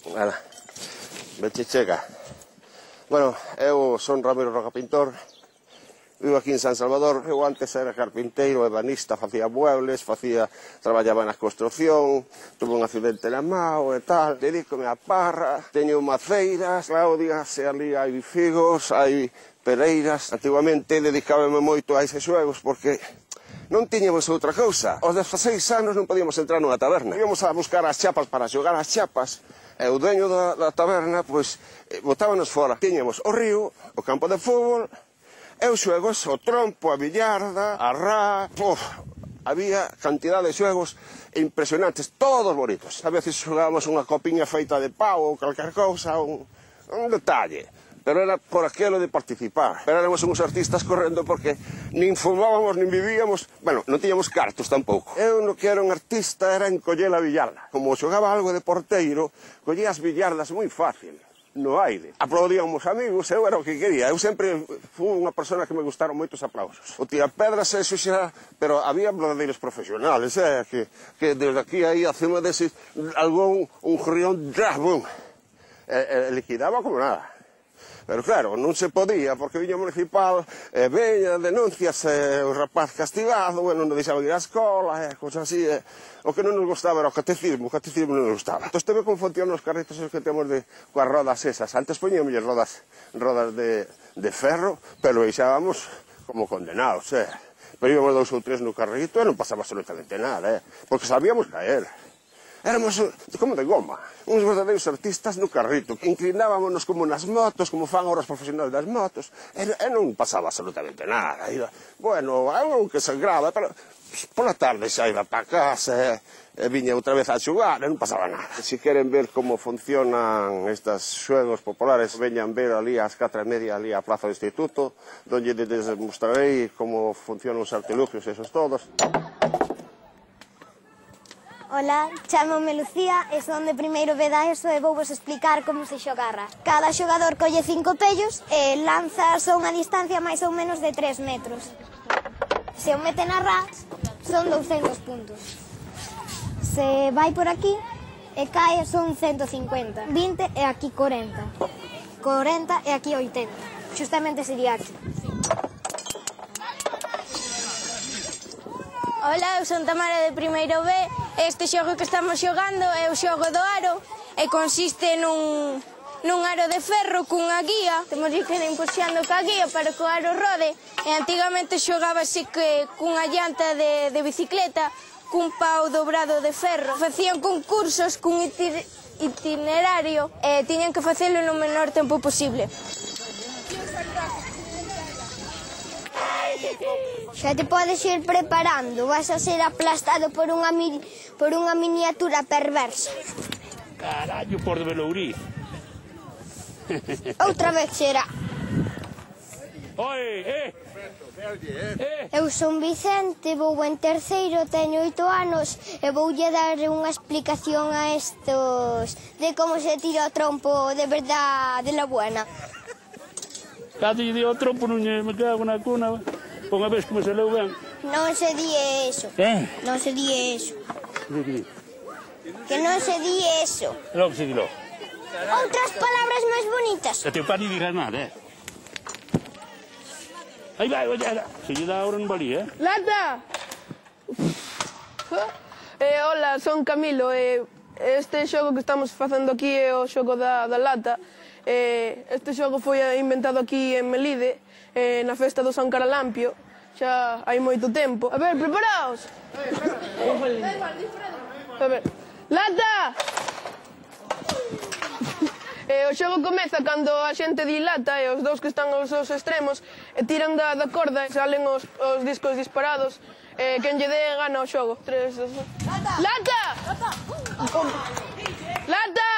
Nada, veche chega. Bueno, eu son Ramiro Roca Pintor, vivo aquí en San Salvador. Eu antes era carpinteiro, ebanista, facía muebles, traballaba na construcción, tuve un accidente na mao e tal. Dedícome á parra, teño maceiras, Claudias, e ali hai figos, hai pereiras. Antigamente dedicábame moito a eses xuegos porque non tiñamos outra cousa. Aos 16 anos non podíamos entrar nunha taberna. Íbamos a buscar as chapas para xogar as chapas. E o dueño da taberna, pois, botábanos fora. Tiñamos o río, o campo de fútbol, e os xuegos, o trompo, a billarda, a rá... Había cantidad de xuegos impresionantes, todos bonitos. A veces xogábamos unha copiña feita de pau ou calquer cousa, un detalle. Pero era por aquilo de participar. Pero éramos uns artistas correndo porque nin fumábamos, nin vivíamos... Bueno, non tiñamos cartos tampouco. Eu no que era un artista era en coller a billarda. Como xogaba algo de porteiro, collía as billardas moi fácil, no aire. Aplaudíamos amigos, eu era o que quería. Eu sempre fui unha persona que me gustaron moitos aplausos. O tira pedras, eso xa... Pero había verdadeiros profesionales, que desde aquí aí, acima dese, algún un jorrión, bum, liquidaba como nada. Pero claro, non se podía, porque viña municipal, veña, denuncias, o rapaz castigado, bueno, non deixaba ir á escola, cosas así, o que non nos gustaba era o catecismo non nos gustaba. Entón, teve como funcionan os carritos que temos coas rodas esas. Antes poñíamos rodas de ferro, pero deixábamos como condenados, Pero íbamos 2 ou 3 no carrito e non pasaba absolutamente nada, porque sabíamos caer. Éramos como de goma, uns verdadeiros artistas no carrito, que inclinábamos como nas motos, como fan ahora os profesionales das motos, e non pasaba absolutamente nada. Bueno, algo que sangraba, pero pola tarde xa iba para casa, e viña outra vez a xogar, e non pasaba nada. Se queren ver como funcionan estes xuegos populares, veñan ver ali ás 4:30 ali á Plaza do Instituto, donde les mostrarei como funcionan os artilugios esos todos. Ola, chámome Lucía e son de primeiro B da ESO e vou vos explicar como se xogarra. Cada xogador colle 5 pellos e lanza a unha distancia máis ou menos de 3 metros. Se o mete na rá, son 200 puntos. Se vai por aquí e cae, son 150. 20 e aquí 40. 40 e aquí 80. Xustamente sería aquí. Ola, eu son Tamara de primeiro B. Este xogo que estamos xogando é o xogo do aro e consiste nun aro de ferro cunha guía. Temos que ir empuxando ca guía para que o aro rode e antigamente xogábase cunha llanta de bicicleta cun pau dobrado de ferro. Facían concursos cun itinerario e tiñan que facelo no menor tempo posible. Xa te podes ir preparando, vas a ser aplastado por unha miniatura perversa. Carallo, por de Belourí. Outra vez será. Oi, Eu son Vicente, vou en terceiro, teño 8 anos e voulle dar unha explicación a estos de como se tira o trompo de verdad, de la buena. Cado lle dio o trompo, non me cago na cuna. Unha vez que me saleu ben. Non se di eso. Non se di eso. Que non se di eso. Logo se dirá. Outras palabras máis bonitas. E teu pai non digas nada, Aí vai, olha. Se lle dá ahora non valía, Lata! Hola, son Camilo. Este xogo que estamos facendo aquí é o xogo da lata. Este xogo foi inventado aquí en Melide, na festa do San Caralampio, xa hai moito tempo. A ver, preparaos! A ver, lata! O xogo comeza cando a xente dilata e os dous que están aos seus extremos tiran da corda e salen os discos disparados. Quen lle dé gana o xogo. 3, 2, 1... Lata! Lata!